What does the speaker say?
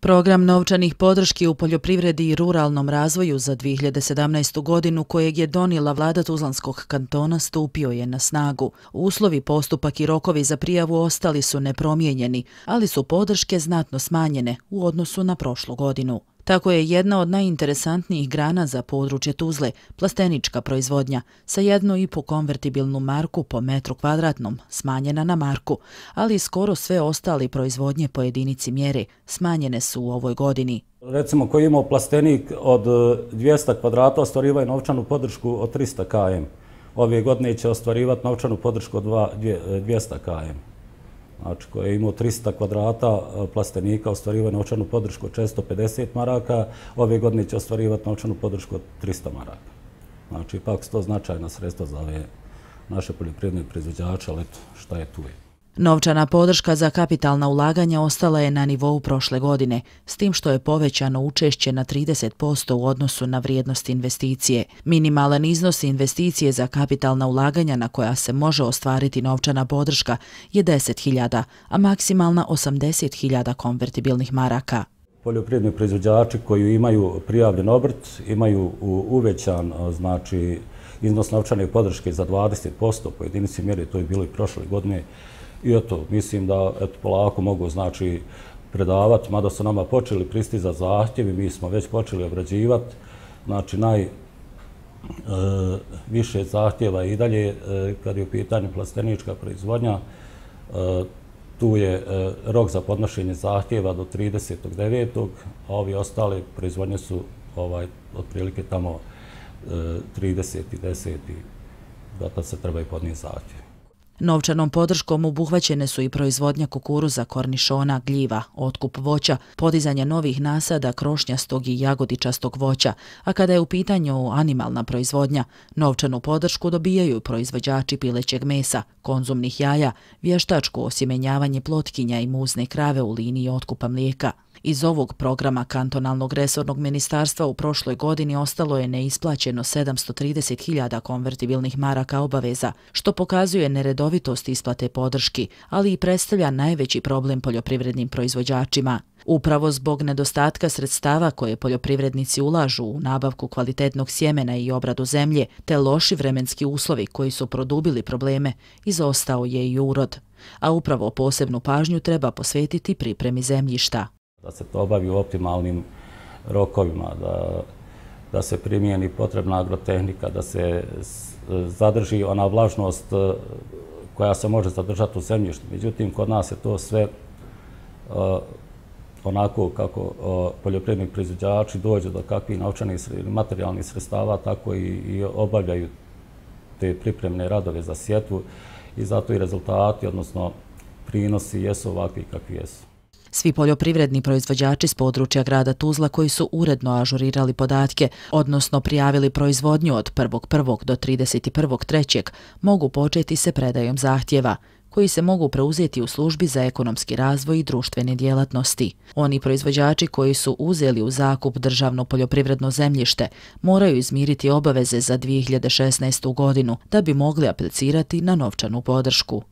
Program novčanih podrški u poljoprivredi i ruralnom razvoju za 2017. godinu kojeg je donijela vlada Tuzlanskog kantona stupio je na snagu. Uslovi, postupak i rokovi za prijavu ostali su nepromijenjeni, ali su podrške znatno smanjene u odnosu na prošlu godinu. Tako je jedna od najinteresantnijih grana za područje Tuzle, plastenička proizvodnja, sa 1,5 konvertibilnu marku po metru kvadratnom, smanjena na marku, ali skoro sve ostale proizvodnje po jedinici mjere smanjene su u ovoj godini. Recimo koji imao plastenik od 200 kvadrata ostvarivaju novčanu podršku od 300 km. Ove godine će ostvarivati novčanu podršku od 200 km. Znači, koji je imao 300 kvadrata plastenika, ostvarivaju novčanu podršku od 450 maraka, ove godine će ostvarivati novčanu podršku od 300 maraka. Znači, ipak su to značajna sredstva za ove naše poljoprivredne proizvođače, ali eto, šta je tu je. Novčana podrška za kapitalna ulaganja ostala je na nivou prošle godine, s tim što je povećano učešće na 30% u odnosu na vrijednost investicije. Minimalan iznos investicije za kapitalna ulaganja na koja se može ostvariti novčana podrška je 10.000, a maksimalna 80.000 konvertibilnih maraka. Poljoprivredni proizvođači koji imaju prijavljen obrt imaju uvećan znači, iznos novčane podrške za 20% po jedinici mjere, to je bilo i prošle godine. I eto, mislim da polako mogu znači predavati, mada su nama počeli pristizati zahtjevi, mi smo već počeli obrađivati. Znači, najviše zahtjeva i dalje, kad je u pitanju plastenička proizvodnja, tu je rok za podnošenje zahtjeva do 30.9. a ovi ostale proizvodnje su otprilike tamo 30.10. da tad se treba i podnijeti zahtjev. Novčanom podrškom obuhvaćene su i proizvodnja kukuruza, kornišona, gljiva, otkup voća, podizanje novih nasada krošnjastog i jagodičastog voća, a kada je u pitanju animalna proizvodnja, novčanu podršku dobijaju proizvođači pilećeg mesa, konzumnih jaja, vještačko osjemenjavanje plotkinja i muzne krave u liniji otkupa mlijeka. Iz ovog programa kantonalnog resornog ministarstva u prošloj godini ostalo je neisplaćeno 730.000 konvertibilnih maraka obaveza, što pokazuje neredovitost isplate podrški, ali i predstavlja najveći problem poljoprivrednim proizvođačima. Upravo zbog nedostatka sredstava koje poljoprivrednici ulažu u nabavku kvalitetnog sjemena i obradu zemlje, te loši vremenski uslovi koji su produbili probleme, izostao je i urod. A upravo posebnu pažnju treba posvetiti pripremi zemljišta. Da se to obavi u optimalnim rokovima, da se primijeni potrebna agrotehnika, da se zadrži ona vlažnost koja se može zadržati u zemljištu. Međutim, kod nas je to sve onako kako poljoprivredni proizvođači dođu do kakvih novčanih ili materijalnih sredstava, tako i obavljaju te pripremne radove za sjetvu i zato i rezultati, odnosno prinosi jesu ovakvi kakvi jesu. Svi poljoprivredni proizvođači s područja grada Tuzla koji su uredno ažurirali podatke, odnosno prijavili proizvodnju od 1.1. do 31.3. mogu početi se predajom zahtjeva, koji se mogu preuzeti u službi za ekonomski razvoj i društvene djelatnosti. Oni proizvođači koji su uzeli u zakup državno poljoprivredno zemljište moraju izmiriti obaveze za 2016. godinu da bi mogli aplicirati na novčanu podršku.